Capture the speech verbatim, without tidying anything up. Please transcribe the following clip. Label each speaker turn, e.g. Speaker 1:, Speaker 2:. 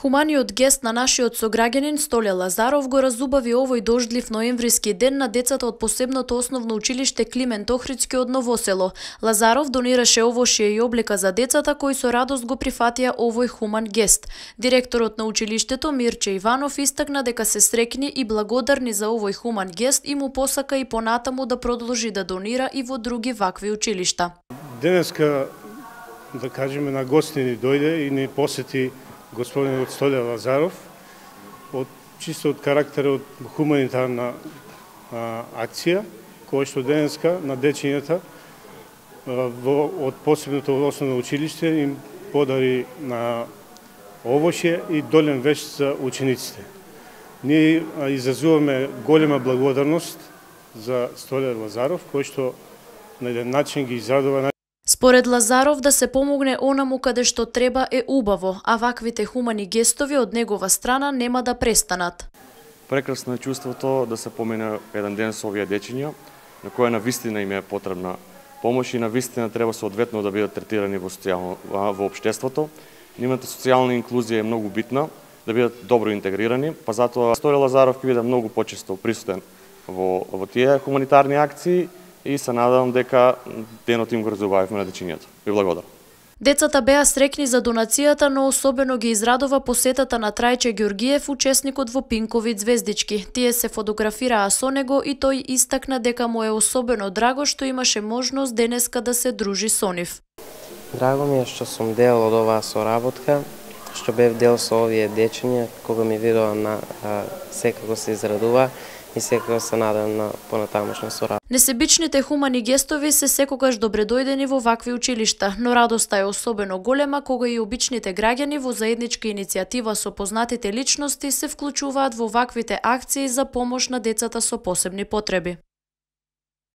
Speaker 1: Хуманиот гест на нашиот сограѓанин Столе Лазаров го разубави овој дождлив ноемвриски ден на децата од посебното основно училиште Климент Охридски од Новосело. Лазаров донираше овошје и облека за децата кои со радост го прифатија овој хуман гест. Директорот на училиштето Мирче Иванов истакна дека се среќни и благодарни за овој хуман гест и му посака и понатаму да продолжи да донира и во други вакви училишта.
Speaker 2: Денеска, да кажеме, на гости ни дојде и ни посети господинот Столе Лазаров, од чисто од карактерот хуманитарна а, акција, која што денеска на дечињата во, од посебното основно училиште им подари на овошје и долен веш за учениците. Ние а, изразуваме голема благодарност за Столе Лазаров, кој што на еден начин ги израдува.
Speaker 1: Според Лазаров, да се помогне онаму каде што треба е убаво, а ваквите хумани гестови од негова страна нема да престанат.
Speaker 3: Прекрасно е чувството да се помине еден ден со овие дечиња, на која навистина им е потребна помош и навистина треба соодветно да бидат третирани во социјално во општеството. Нивната социјална инклузија е многу битна, да бидат добро интегрирани, па затоа Столе Лазаров ќе биде многу почесто присутен во во тие хуманитарни акции. И се надевам дека денот им го разубавивме на дечињата. Ви благодарам.
Speaker 1: Децата беа среќни за донацијата, но особено ги израдува посетата на Трајче Ѓоргиев, учесникот во Пинкови звездички. Тие се фотографираа со него и тој истакна дека му е особено драго што имаше можност денеска да се дружи со нив.
Speaker 4: Драго ми е што сум дел од оваа соработка, што бев дел со овие дечиња, кога ми видоа на а, секако се израдува и секако се надам на понатамошна соработка.
Speaker 1: Несебичните хумани гестови се секогаш добредојдени во вакви училишта, но радоста е особено голема кога и обичните граѓани во заедничка иницијатива со познатите личности се вклучуваат во ваквите акции за помош на децата со посебни потреби.